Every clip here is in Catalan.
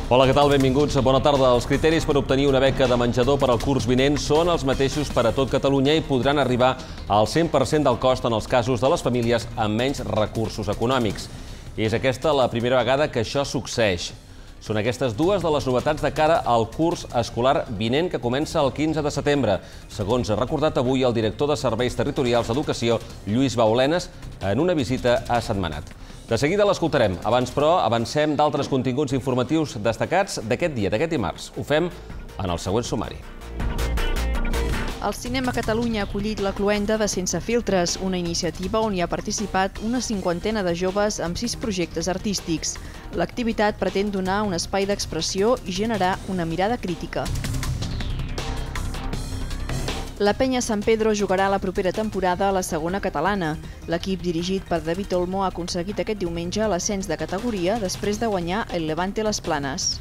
Hola, què tal? Benvinguts. Bona tarda. Els criteris per obtenir una beca de menjador per al curs vinent són els mateixos per a tot Catalunya i podran arribar al 100% del cost en els casos de les famílies amb menys recursos econòmics. És aquesta la primera vegada que això succeeix. Són aquestes dues de les novetats de cara al curs escolar vinent que comença el 15 de setembre, segons ha recordat avui el director de Serveis Territorials d'Educació, Lluís Baulenas, en una visita a Sentmenat. De seguida l'escoltarem. Abans, però, avancem d'altres continguts informatius destacats d'aquest dia, d'aquest dimarts. Ho fem en el següent sumari. El Cinema Catalunya ha acollit la Cloenda de Sense Filtres, una iniciativa on hi ha participat una cinquantena de joves amb 6 projectes artístics. L'activitat pretén donar un espai d'expressió i generar una mirada crítica. La Penya Sant Pedro jugarà la propera temporada a la segona catalana. L'equip dirigit per David Olmo ha aconseguit aquest diumenge l'ascens de categoria després de guanyar el Levante Les Planes.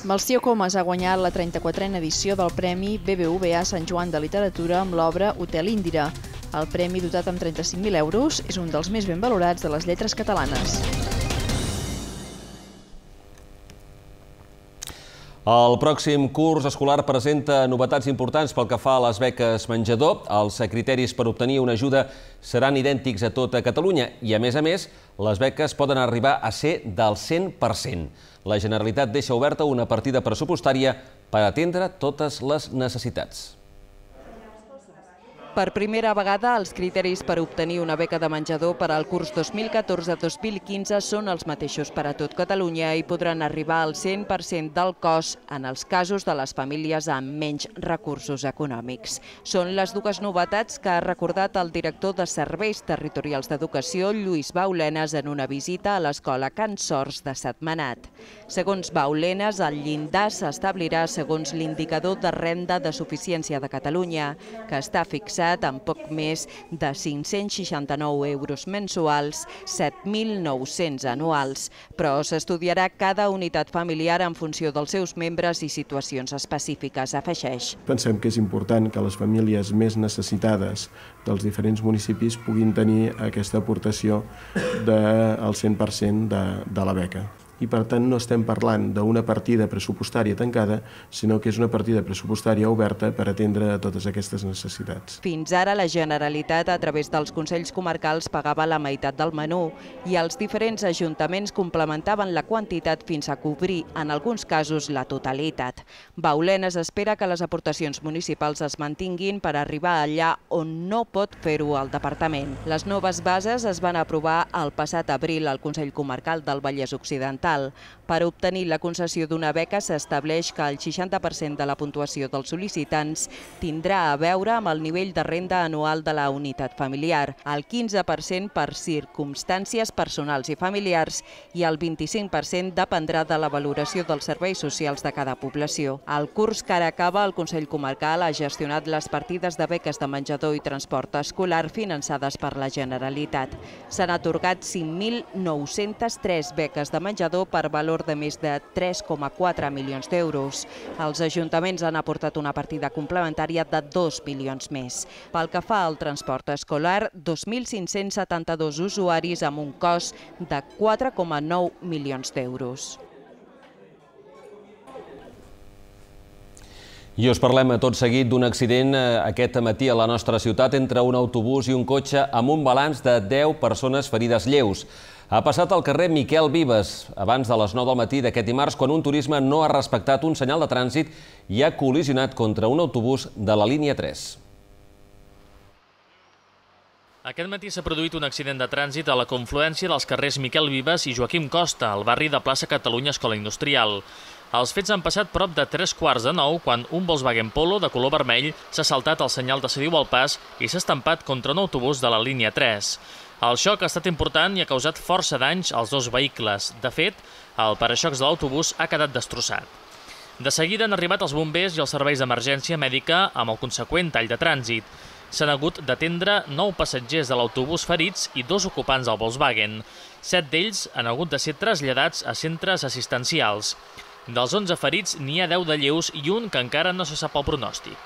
Melcior Comas ha guanyat la 34a edició del Premi BBVA Sant Joan de Literatura amb l'obra Hotel Índira. El premi, dotat amb 35.000 euros, és un dels més ben valorats de les lletres catalanes. El pròxim curs escolar presenta novetats importants pel que fa a les beques menjador. Els criteris per obtenir una ajuda seran idèntics a tota Catalunya i, a més, les beques poden arribar a ser del 100%. La Generalitat deixa oberta una partida pressupostària per atendre totes les necessitats. Per primera vegada, els criteris per obtenir una beca de menjador per al curs 2014-2015 són els mateixos per a tot Catalunya i podran arribar al 100% del cost en els casos de les famílies amb menys recursos econòmics. Són les dues novetats que ha recordat el director de Serveis Territorials d'Educació, Lluís Baulenas, en una visita a l'escola Can Sors de Sentmenat. Segons Baulenas, el llindar s'establirà segons l'indicador de renda de suficiència de Catalunya, que està fixat amb poc més de 569 euros mensuals, 7.900 anuals. Però s'estudiarà cada unitat familiar en funció dels seus membres i situacions específiques, afegeix. Pensem que és important que les famílies més necessitades dels diferents municipis puguin tenir aquesta aportació del 100% de la beca. I, per tant, no estem parlant d'una partida pressupostària tancada, sinó que és una partida pressupostària oberta per atendre totes aquestes necessitats. Fins ara, la Generalitat, a través dels Consells Comarcals, pagava la meitat del menú i els diferents ajuntaments complementaven la quantitat fins a cobrir, en alguns casos, la totalitat. Baulenas espera que les aportacions municipals es mantinguin per arribar allà on no pot fer-ho el departament. Les noves bases es van aprovar el passat abril al Consell Comarcal del Vallès Occidental. Per obtenir la concessió d'una beca s'estableix que el 60% de la puntuació dels sol·licitants tindrà a veure amb el nivell de renda anual de la unitat familiar, el 15% per circumstàncies personals i familiars i el 25% dependrà de la valoració dels serveis socials de cada població. El curs que ara acaba, el Consell Comarcal ha gestionat les partides de beques de menjador i transport escolar finançades per la Generalitat. S'han atorgat 5.903 beques de menjador per valor de més de 3,4 milions d'euros. Els ajuntaments han aportat una partida complementària de 2 milions més. Pel que fa al transport escolar, 2.572 usuaris amb un cost de 4,9 milions d'euros. I us parlem tot seguit d'un accident aquest matí a la nostra ciutat entre un autobús i un cotxe amb un balanç de 10 persones ferides lleus. Ha passat al carrer Miquel Vives abans de les 9 del matí d'aquest dimarts quan un turisme no ha respectat un senyal de trànsit i ha col·lisionat contra un autobús de la línia 3. Aquest matí s'ha produït un accident de trànsit a la confluència dels carrers Miquel Vives i Joaquim Costa, al barri de Plaça Catalunya Escola Industrial. Els fets han passat prop de 9:15 quan un Volkswagen Polo de color vermell s'ha saltat el senyal de cediu al pas i s'ha estampat contra un autobús de la línia 3. El xoc ha estat important i ha causat força danys als dos vehicles. De fet, el paraxocs de l'autobús ha quedat destrossat. De seguida han arribat els bombers i els serveis d'emergència mèdica amb el conseqüent tall de trànsit. S'han hagut d'atendre 9 passatgers de l'autobús ferits i 2 ocupants del Volkswagen. 7 d'ells han hagut de ser traslladats a centres assistencials. Dels 11 ferits n'hi ha 10 de lleus i un que encara no se sap el pronòstic.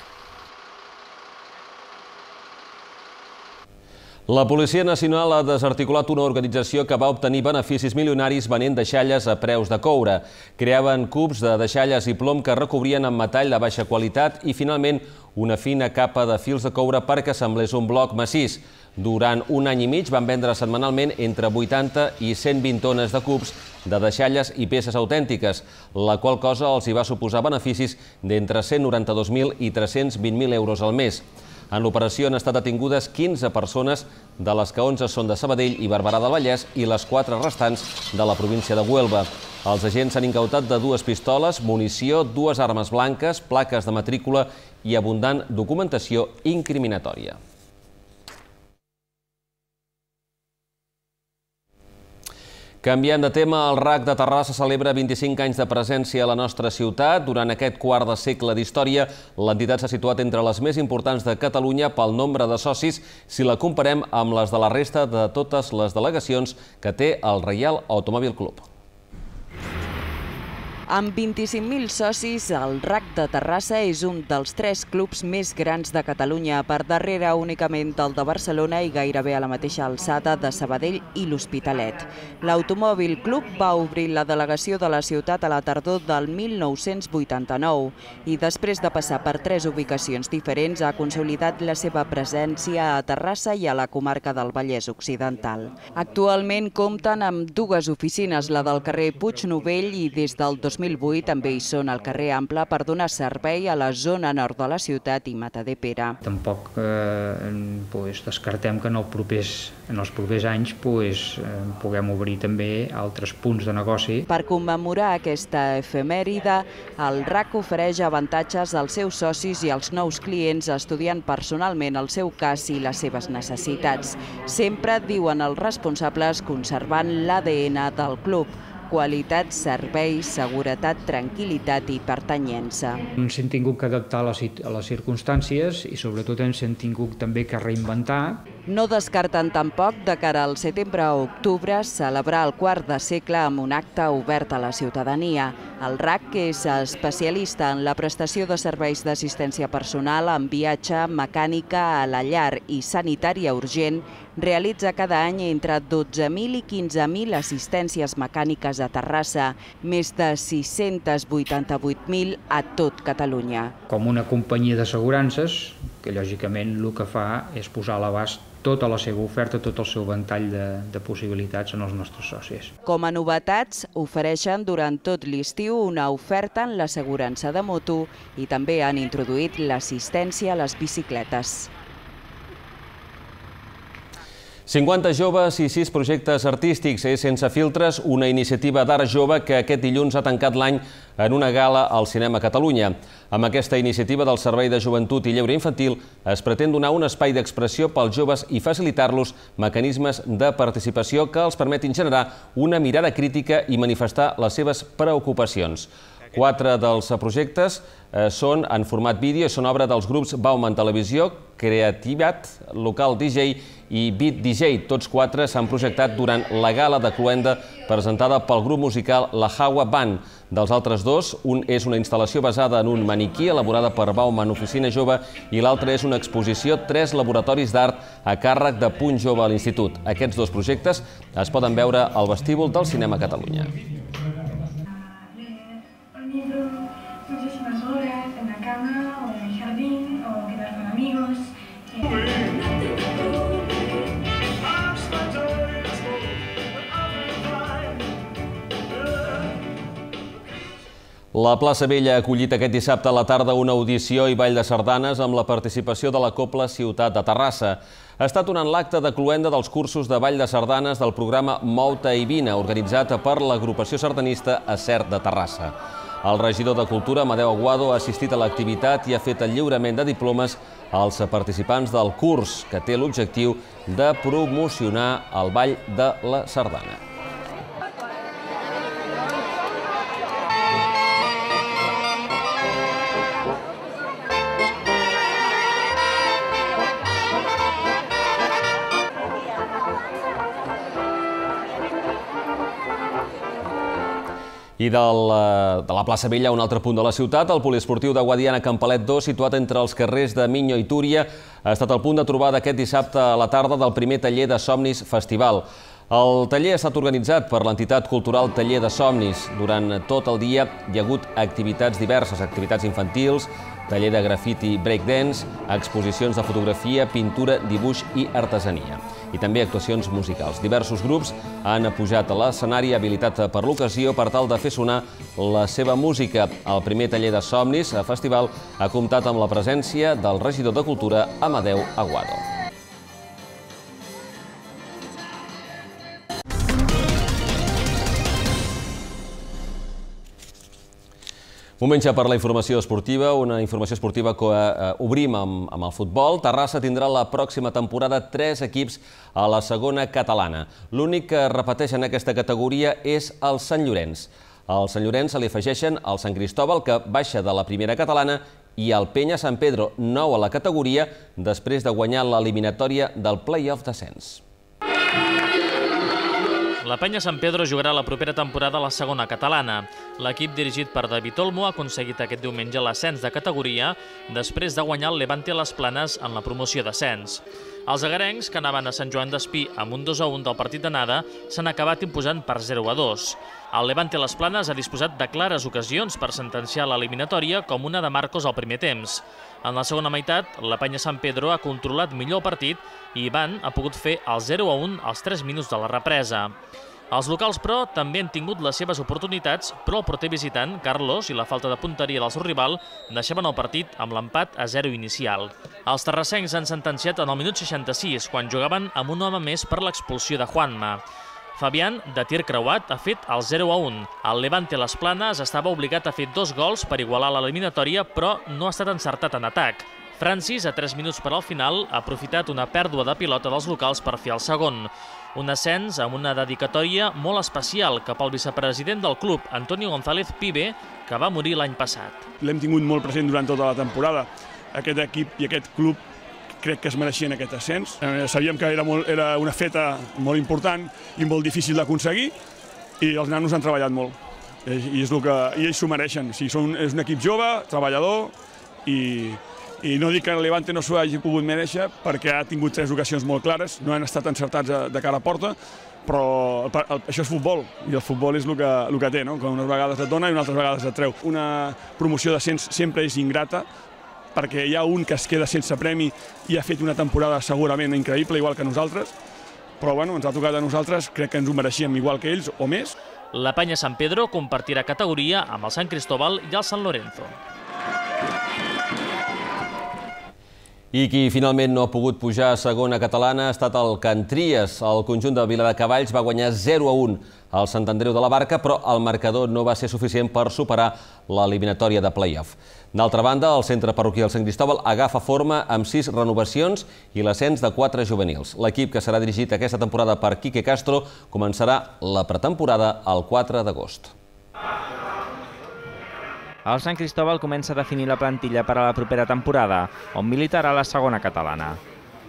La Policia Nacional ha desarticulat una organització que va obtenir beneficis milionaris venent deixalles a preus de coure. Creaven cubs de deixalles i plom que recobrien amb metall de baixa qualitat i, finalment, una fina capa de fils de coure perquè semblés un bloc massís. Durant un any i mig van vendre setmanalment entre 80 i 120 tones de cubs de deixalles i peces autèntiques, la qual cosa els hi va suposar beneficis d'entre 192.000 i 320.000 euros al mes. En l'operació han estat detingudes 15 persones, de les que 11 són de Sabadell i Barberà del Vallès i les 4 restants de la província de Huelva. Els agents s'han incautat de 2 pistoles, munició, 2 armes blanques, plaques de matrícula i abundant documentació incriminatòria. Canviant de tema, el RAC de Terrassa celebra 25 anys de presència a la nostra ciutat. Durant aquest quart de segle d'història, l'entitat s'ha situat entre les més importants de Catalunya pel nombre de socis si la comparem amb les de la resta de totes les delegacions que té el Reial Automòbil Club. Amb 25.000 socis, el RAC de Terrassa és un dels 3 clubs més grans de Catalunya, per darrere únicament del de Barcelona i gairebé a la mateixa alçada de Sabadell i l'Hospitalet. L'Automòbil Club va obrir la delegació de la ciutat a la tardor del 1989 i després de passar per 3 ubicacions diferents ha consolidat la seva presència a Terrassa i a la comarca del Vallès Occidental. Actualment compten amb 2 oficines, la del carrer Puig Novell i des del 2008 també hi són al carrer Ample per donar servei a la zona nord de la ciutat i Matadepera. Tampoc descartem que en els propers anys puguem obrir també altres punts de negoci. Per commemorar aquesta efemèride, el RAC ofereix avantatges als seus socis i als nous clients estudiant personalment el seu cas i les seves necessitats. Sempre, diuen els responsables, conservant l'ADN del club: qualitat, servei, seguretat, tranquil·litat i pertanyença. Ens hem tingut que adaptar a les circumstàncies i sobretot ens hem tingut també que reinventar. No descarten tampoc, de cara al setembre o octubre, celebrar el quart de segle amb un acte obert a la ciutadania. El RAC, que és especialista en la prestació de serveis d'assistència personal, en viatge, mecànica a la llar i sanitària urgent, realitza cada any entre 12.000 i 15.000 assistències mecàniques a Terrassa, més de 688.000 a tot Catalunya. Com una companyia d'assegurances, que lògicament el que fa és posar a l'abast tota la seva oferta, tot el seu ventall de possibilitats en els nostres socis. Com a novetats, ofereixen durant tot l'estiu una oferta en l'assegurança de moto i també han introduït l'assistència a les bicicletes. 50 joves i 6 projectes artístics. És Sense filtres, una iniciativa d'art jove que aquest dilluns ha tancat l'any en una gala al Cinema Catalunya. Amb aquesta iniciativa del Servei de Joventut i Lleure Infantil es pretén donar un espai d'expressió pels joves i facilitar-los mecanismes de participació que els permetin generar una mirada crítica i manifestar les seves preocupacions. 4 dels projectes són en format vídeo i són obra dels grups Bauman Televisió, Creativat, Local DJ i Beat DJ. Tots 4 s'han projectat durant la gala de cloenda presentada pel grup musical La Hawa Band. Dels altres 2, un és una instal·lació basada en un maniquí elaborada per Bauman Oficina Jove i l'altre és una exposició 3 laboratoris d'art a càrrec de Punt Jove a l'Institut. Aquests 2 projectes es poden veure al vestíbul del Cinema Catalunya. La Plaça Vella ha acollit aquest dissabte a la tarda una audició i ball de sardanes amb la participació de la Cobla Ciutat de Terrassa. Ha estat durant l'acte de cloenda dels cursos de ball de sardanes del programa Mou-te i Vine, organitzat per l'agrupació sardanista Acert de Terrassa. El regidor de Cultura, Amadeu Aguado, ha assistit a l'activitat i ha fet el lliurament de diplomes als participants del curs, que té l'objectiu de promocionar el ball de la sardana. I de la plaça Vella, a un altre punt de la ciutat, el poliesportiu de Guadiana Campalet 2, situat entre els carrers de Miño i Túria, ha estat el punt de trobada aquest dissabte a la tarda del primer taller de somnis festival. El taller ha estat organitzat per l'entitat cultural Taller de Somnis. Durant tot el dia hi ha hagut activitats diverses, activitats infantils, taller de grafiti breakdance, exposicions de fotografia, pintura, dibuix i artesania. I també actuacions musicals. Diversos grups han pujat a l'escenari habilitat per l'ocasió per tal de fer sonar la seva música. El primer taller de somnis festival ha comptat amb la presència del regidor de Cultura, Amadeu Aguado. Moment ja per la informació esportiva, una informació esportiva que obrim amb el futbol. Terrassa tindrà la pròxima temporada 3 equips a la segona catalana. L'únic que repeteix en aquesta categoria és el Sant Llorenç. Al Sant Llorenç se li afegeixen el Sant Cristóbal, que baixa de la primera catalana, i el Penya Sant Pedro, nou a la categoria, després de guanyar l'eliminatòria del play-off d'ascens. La Penya Sant Pedro jugarà la propera temporada a la segona catalana. L'equip dirigit per David Olmo ha aconseguit aquest diumenge l'ascens de categoria després de guanyar el Levante a les Planes en la promoció d'ascens. Els agarencs, que anaven a Sant Joan d'Espí amb un 2-1 del partit d'anada, s'han acabat imposant per 0-2. El Levante a les Planes ha disposat de clares ocasions per sentenciar l'eliminatòria, com una de Marcos al primer temps. En la segona meitat, la Penya Sant Pedro ha controlat millor el partit i Ivan ha pogut fer el 0-1 als 3 minuts de la represa. Els locals, però, també han tingut les seves oportunitats, però el porter visitant, Carlos, i la falta de punteria del seu rival deixaven el partit amb l'empat a 0 inicial. Els terrassencs han sentenciat en el minut 66, quan jugaven amb un home més per l'expulsió de Juanma. Fabián, de tir creuat, ha fet el 0-1. El Levante a les Planes estava obligat a fer 2 gols per igualar l'eliminatòria, però no ha estat encertat en atac. Francis, a 3 minuts per al final, ha aprofitat una pèrdua de pilota dels locals per fer el segon. Un ascens amb una dedicatòria molt especial cap al vicepresident del club, Antonio González Pibe, que va morir l'any passat. L'hem tingut molt present durant tota la temporada. Aquest equip i aquest club crec que es mereixien aquest ascens. Sabíem que era una feta molt important i molt difícil d'aconseguir i els nanos han treballat molt. I ells s'ho mereixen. És un equip jove, treballador i no dic que el Levante no s'ho hagi pogut mereixer perquè ha tingut 3 ocasions molt clares, no han estat encertats de cara a porta, però això és futbol i el futbol és el que té, que unes vegades et dona i unes altres vegades et treu. Una promoció d'ascens sempre és ingrata perquè hi ha un que es queda sense premi i ha fet una temporada segurament increïble, igual que nosaltres, però ens ha tocat a nosaltres, crec que ens ho mereixíem igual que ells o més. La Penya Sant Pedro compartirà categoria amb el Sant Cristóbal i el Sant Lorenzo. I qui finalment no ha pogut pujar a segona catalana ha estat el Can Tries. El conjunt de Viladecavalls va guanyar 0-1 al Sant Andreu de la Barca, però el marcador no va ser suficient per superar l'eliminatòria de play-off. D'altra banda, el centre parroquial Sant Cristóbal agafa forma amb 6 renovacions i l'ascens de 4 juvenils. L'equip, que serà dirigit aquesta temporada per Quique Castro, començarà la pretemporada el 4 d'agost. El Sant Cristóbal comença a definir la plantilla per a la propera temporada, on militarà la segona catalana.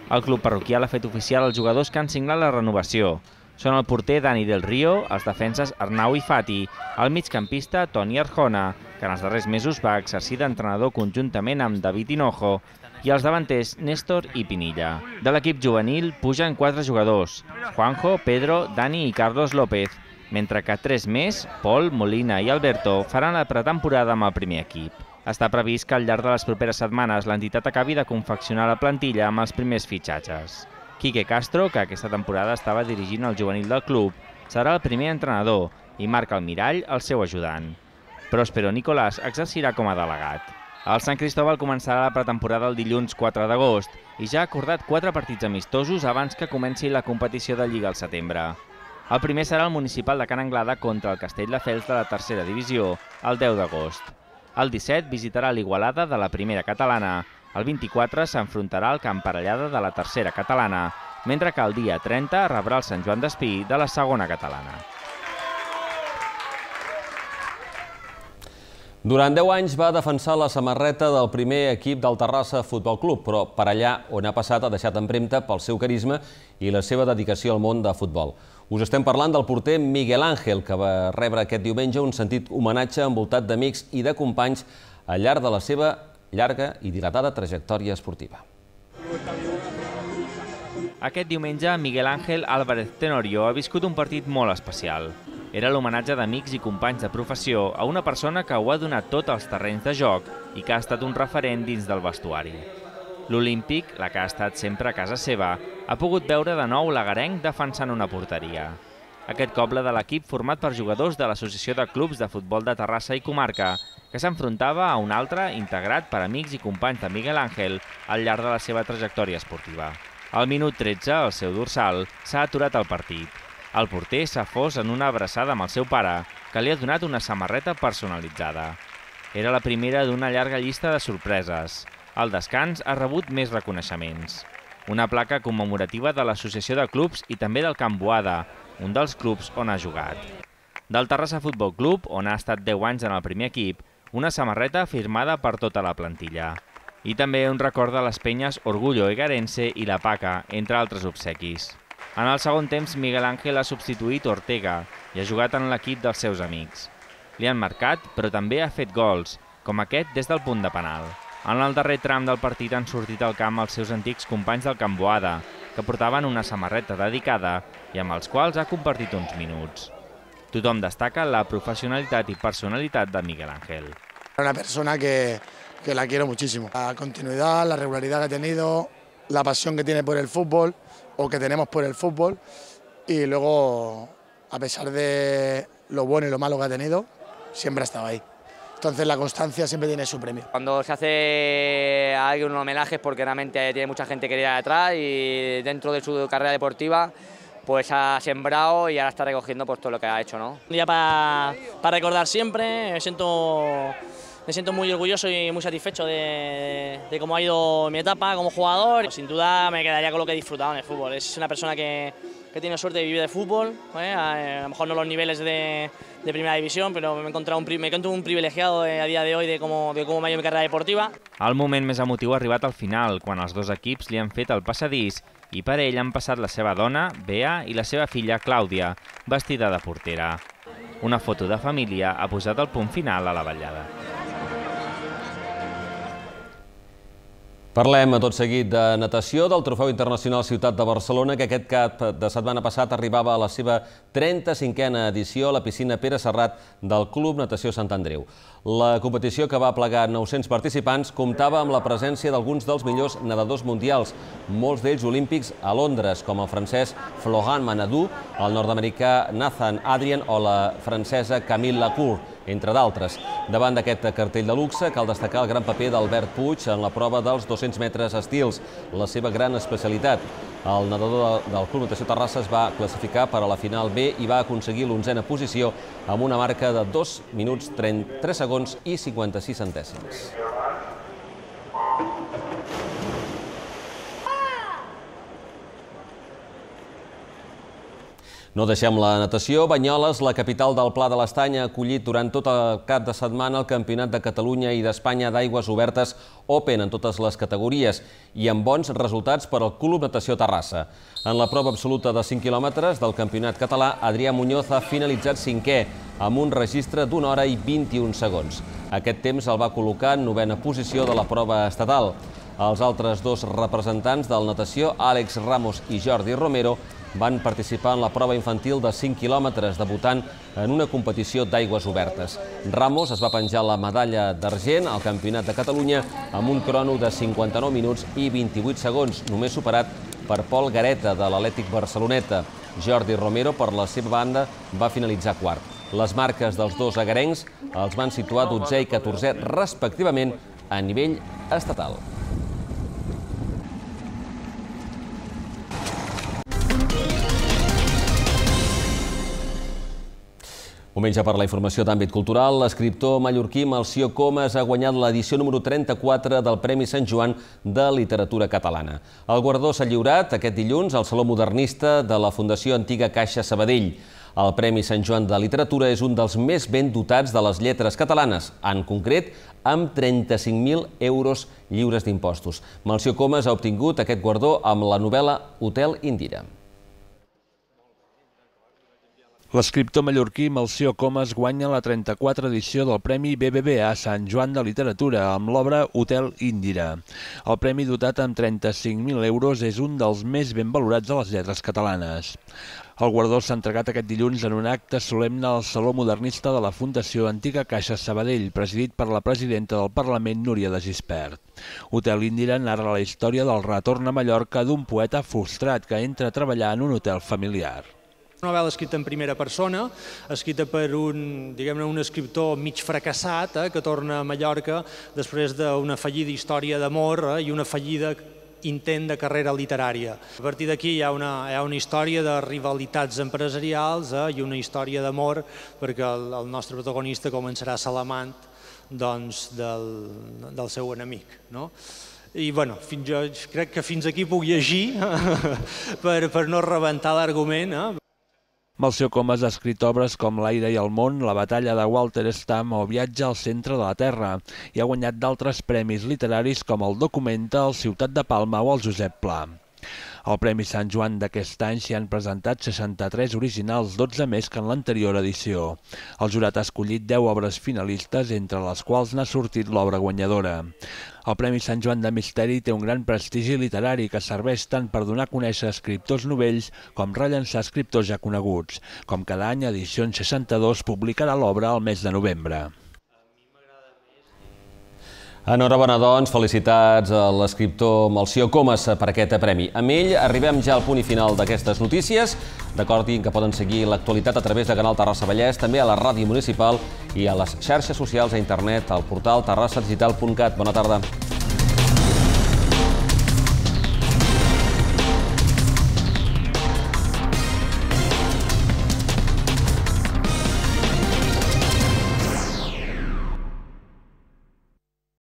El club parroquial ha fet oficial els jugadors que han signat la renovació. Són el porter Dani del Río, els defenses Arnau i Fati, el migcampista Toni Arjona, que en els darrers mesos va exercir d'entrenador conjuntament amb David Hinojo, i els davanters Néstor i Pinilla. De l'equip juvenil pugen 4 jugadors: Juanjo, Pedro, Dani i Carlos López, mentre que 3 més, Pol, Molina i Alberto, faran la pretemporada amb el primer equip. Està previst que al llarg de les properes setmanes l'entitat acabi de confeccionar la plantilla amb els primers fitxatges. Quique Castro, que aquesta temporada estava dirigint el juvenil del club, serà el primer entrenador i Marc Almirall el seu ajudant. Próspero Nicolás exercirà com a delegat. El Sant Cristóbal començarà la pretemporada el dilluns 4 d'agost i ja ha acordat 4 partits amistosos abans que comenci la competició de Lliga al setembre. El primer serà el municipal de Can Anglada contra el Castelldefels de la tercera divisió, el 10 d'agost. El 17 visitarà l'Igualada de la primera catalana. El 24 s'enfrontarà al Camp Parellada de la tercera catalana, mentre que el dia 30 rebrà el Sant Joan d'Espí de la segona catalana. Durant 10 anys va defensar la samarreta del primer equip del Terrassa Futbol Club, però per allà on ha passat ha deixat empremta pel seu carisma i la seva dedicació al món de futbol. Us estem parlant del porter Miguel Ángel, que va rebre aquest diumenge un sentit homenatge envoltat d'amics i de companys al llarg de la seva llarga i dilatada trajectòria esportiva. Aquest diumenge, Miguel Ángel Álvarez Tenorio ha viscut un partit molt especial. Era l'homenatge d'amics i companys de professió a una persona que ho ha donat tot als terrenys de joc i que ha estat un referent dins del vestuari. L'Olímpic, la que ha estat sempre a casa seva, ha pogut veure de nou l'agarenc defensant una porteria. Aquest cop la de l'equip format per jugadors de l'Associació de Clubs de Futbol de Terrassa i Comarca, que s'enfrontava a un altre integrat per amics i companys de Miguel Ángel al llarg de la seva trajectòria esportiva. Al minut 13, al seu dorsal, s'ha aturat el partit. El porter s'ha fos en una abraçada amb el seu pare, que li ha donat una samarreta personalitzada. Era la primera d'una llarga llista de sorpreses. Al descans ha rebut més reconeixements. Una placa commemorativa de l'Associació de Clubs i també del Camp Boada, un dels clubs on ha jugat. Del Terrassa Futbol Club, on ha estat 10 anys en el primer equip, una samarreta firmada per tota la plantilla. I també un record de les penyes Orgullo Egarense i la Paca, entre altres obsequis. En el segon temps, Miguel Ángel ha substituït Ortega i ha jugat en l'equip dels seus amics. Li han marcat, però també ha fet gols, com aquest des del punt de penal. En el darrer tram del partit han sortit al camp els seus antics companys del Camp Boada, que portaven una samarreta dedicada i amb els quals ha compartit uns minuts. Tothom destaca la professionalitat i personalitat de Miguel Ángel. Una persona que la quiero muchísimo. La continuidad, la regularidad que ha tenido, la pasión que tiene por el fútbol, o que tenemos por el fútbol, y luego, a pesar de lo bueno y lo malo que ha tenido, siempre ha estado ahí. Entonces la constancia siempre tiene su premio. Cuando se hace a alguien un homenaje es porque realmente tiene mucha gente querida detrás y dentro de su carrera deportiva pues ha sembrado y ahora está recogiendo pues todo lo que ha hecho, ¿no? Un día para recordar siempre, me siento muy orgulloso y muy satisfecho de cómo ha ido mi etapa como jugador. Sin duda me quedaría con lo que he disfrutado en el fútbol. Es una persona que tiene suerte de vivir de fútbol, a lo mejor no los niveles de primera división, pero me encuentro un privilegiado a día de hoy de cómo me ha ido mi carrera deportiva. El moment més emotiu ha arribat al final, quan els dos equips li han fet el passadís i per ell han passat la seva dona, Bea, i la seva filla, Clàudia, vestida de portera. Una foto de família ha posat el punt final a la vetllada. Parlem tot seguit de natació, del Trofeu Internacional Ciutat de Barcelona, que aquest cap de setmana passat arribava a la seva 35a edició a la piscina Pere Serrat del Club Natació Sant Andreu. La competició, que va plegar 900 participants, comptava amb la presència d'alguns dels millors nedadors mundials, molts d'ells olímpics a Londres, com el francès Florent Manadou, el nord-americà Nathan Adrian o la francesa Camille Lacour, entre d'altres. Davant d'aquest cartell de luxe cal destacar el gran paper d'Albert Puig en la prova dels 200 metres estils, la seva gran especialitat. El nedador del Club Natació Terrassa es va classificar per a la final B i va aconseguir l'11a posició amb una marca de 2 minuts 33 segons i 56 centèsims. No deixem la natació. Banyoles, la capital del Pla de l'Estany, ha acollit durant tot el cap de setmana el Campionat de Catalunya i d'Espanya d'aigües obertes Open en totes les categories i amb bons resultats per al Club Natació Terrassa. En la prova absoluta de 5 quilòmetres del campionat català, Adrià Muñoz ha finalitzat 5è amb un registre d'1 hora i 21 segons. Aquest temps el va col·locar en 9a posició de la prova estatal. Els altres dos representants del natació, Àlex Ramos i Jordi Romero, van participar en la prova infantil de 5 quilòmetres, debutant en una competició d'aigües obertes. Ramos es va penjar la medalla d'argent al Campionat de Catalunya amb un crono de 59 minuts i 28 segons, només superat per Pol Gareta, de l'Atlètic Barceloneta. Jordi Romero, per la seva banda, va finalitzar quart. Les marques dels dos agarencs els van situar 12è i 14è, respectivament, a nivell estatal. Moment ja per la informació d'àmbit cultural. L'escriptor mallorquí Melcior Comas ha guanyat l'edició número 34 del Premi Sant Joan de Literatura Catalana. El guardó s'ha lliurat aquest dilluns al Saló Modernista de la Fundació Antiga Caixa Sabadell. El Premi Sant Joan de Literatura és un dels més ben dotats de les lletres catalanes, en concret amb 35.000 euros lliures d'impostos. Melcior Comas ha obtingut aquest guardó amb la novel·la Hotel Indira. L'escriptor mallorquí Melcior Comas guanya la 34a edició del Premi BBVA Sant Joan de Literatura amb l'obra Hotel Índira. El premi, dotat amb 35.000 euros, és un dels més ben valorats de les lletres catalanes. El guardó s'ha entregat aquest dilluns en un acte solemne al Saló Modernista de la Fundació Antiga Caixa Sabadell, presidit per la presidenta del Parlament, Núria de Gispert. Hotel Índira narra la història del retorn a Mallorca d'un poeta frustrat que entra a treballar en un hotel familiar. Una novel·la escrita en primera persona, escrita per un escriptor mig fracassat que torna a Mallorca després d'una fallida història d'amor i una fallida intent de carrera literària. A partir d'aquí hi ha una història de rivalitats empresarials i una història d'amor, perquè el nostre protagonista començarà a ser l'amant del seu enemic. I jo crec que fins aquí puc llegir per no rebentar l'argument. Melcior Comas ha escrit obres com L'aire i el món, La batalla de Walter Stamm o Viatge al centre de la Terra i ha guanyat d'altres premis literaris com el Documental, Ciutat de Palma o el Josep Pla. Al Premi Sant Joan d'aquest any s'hi han presentat 63 originals, 12 més que en l'anterior edició. El jurat ha escollit 10 obres finalistes, entre les quals n'ha sortit l'obra guanyadora. El Premi Sant Joan de Misteri té un gran prestigi literari que serveix tant per donar a conèixer escriptors novells com rellançar escriptors ja coneguts. Com cada any, Edicions 62 publicarà l'obra al mes de novembre. Enhorabona, doncs, felicitats a l'escriptor Melcior Comas per aquest premi. Amb ell arribem ja al punt i final d'aquestes notícies. Recordin que poden seguir l'actualitat a través de Canal Terrassa Vallès, també a la ràdio municipal i a les xarxes socials a internet, al portal terrassadigital.cat. Bona tarda.